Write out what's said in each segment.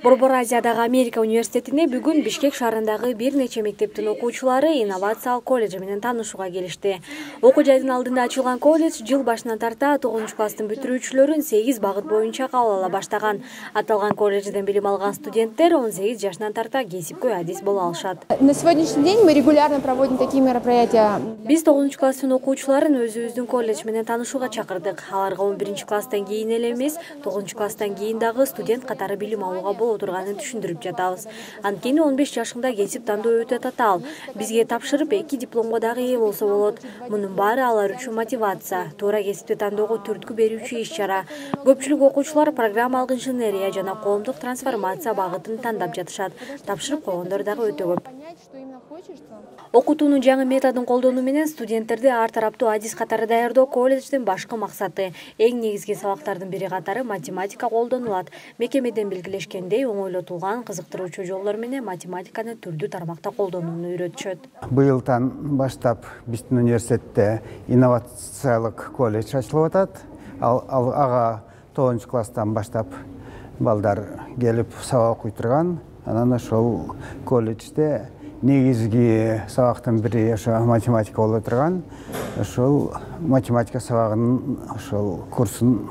Борбор Азиядагы Америка университетине бүгүн Бишкек шаарындагы бир нече мектептин окуучулары инновациялык колледж менен таанышууга келишти. Окуу жайдын алдында ачылган колледж жыл башынан тарта 9-класстын бүтүрүүчүлөрүн 8 багыт боюнча кабыл ала баштаган. Аталган колледжден билим алган студенттер 18 жашынан тарта кесипкөй адис боло алышат. На сегодняшний день мы регулярно проводим такие мероприятия. Биз 9-класстын окуучуларын өзүбүздүн колледж менен таанышууга чакырдык. Аларга 11-класстан кийин эле эмес, 9-класстан кийин дагы студент катары билим алууга боло турганын түшүндүрүп жатабыз. Анткени 15 жашында кесип тандоо өтө татаал. Бизге тапшырып 2 дипломго дагы ээ болсо болот. Мунун баары алар үчүн мотивация, туура кесипти тандоого түрткү берүүчү иш-чара. Көпчүлүк окуучулар программалык инженерия жана коомдук трансформация багытын тандап жатышат. Тапшырып койгондор дагы өтө көп. Окутуунун жаңы методун колдонуу менен студенттерди ар тараптуу адис катары даярдоо колледждин башкы максаты. Эң негизги сабактардын бири катары математика колдонулат. Мекемеден белгилешкендей, оңойлотулган кызыктыруучу жолдор менен математиканы түрдүү тармакта колдонууну үйрөтүшөт. Быйылдан баштап биздин университетте инновациялык колледж ачылып атат. Ага 9-класстан баштап балдар келип сабак окуй турган. Анан ошол колледжде негизги сабактын бири ошо математика боло турган. Ошол математика сабагынын ошол курсун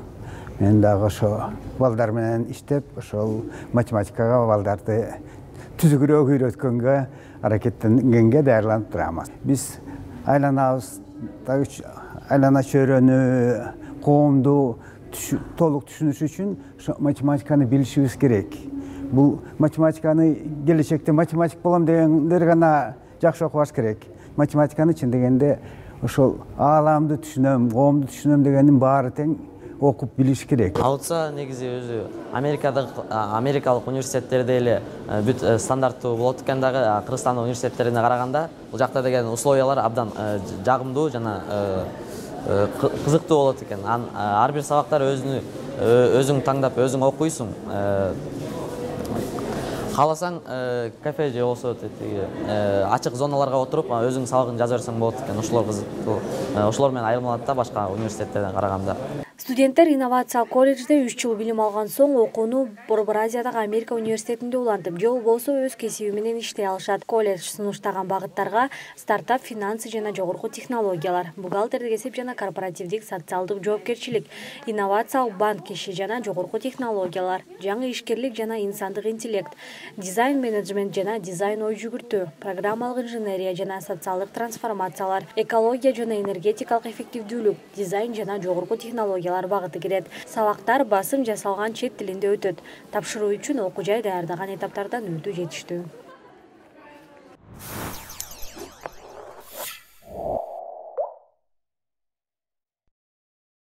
мен дагы ошо балдар менен иштеп, ошол математикага балдарды түзүгүрөөк үйрөткөнгө аракеттенгенге даярданып турабыз. Биз айланабыз, айлана чөйрөнү, коомду толук түшүнүш үчүн математиканы билишибиз керек. Бул математиканы келечекте математик болом дегендер гана жакшы окубаш керек. Математиканы чын дегенде ошол ааламды түшүнөм, коомду түшүнөм дегендин баары тең окуп билиш керек. Алса негизи өзү америкалык университеттерде эле бүт стандарттуу болот экен дагы, Кыргызстандын университеттерине караганда бул жакта деген условиялар абдан жагымдуу жана кызыктуу болот экен. Ар бир сабактар өзүң таңдап, өзүң окуйсуң. Кааласаң кафе же болсо ачык зоналарга отуруп өзүң сабагын жаза берсең болот экен. Ошолор кызыктуу. Ошолор менен айырмаланат да башка университеттерден караганда. Студенттер инновациялык колледжде 3 жыл билим алган соң окууну Борбор Азиядагы Америка университетинде улантып, же болбосо өз кесиби менен иштей алышат. Колледж сунуштаган багыттарга стартап, финансы жана жогорку технологиялар, бухгалтердик эсеп жана корпоративдик социалдык жоопкерчилик, инновациялык банк иши жана жогорку технологиялар, жаңы ишкерлик жана инсандык интеллект, дизайн менеджмент жана дизайн ой жүгүртүү, программалык инженерия жана социалдык трансформациялар, экология жана энергетикалык эффективдүүлүк, дизайн жана жогорку технологиялар багыты кирет. Сабактар басым жасалган чет тилинде өтөт. Тапшыруу үчүн окуу жай даярдаган этаптардан өтүү жетиштүү.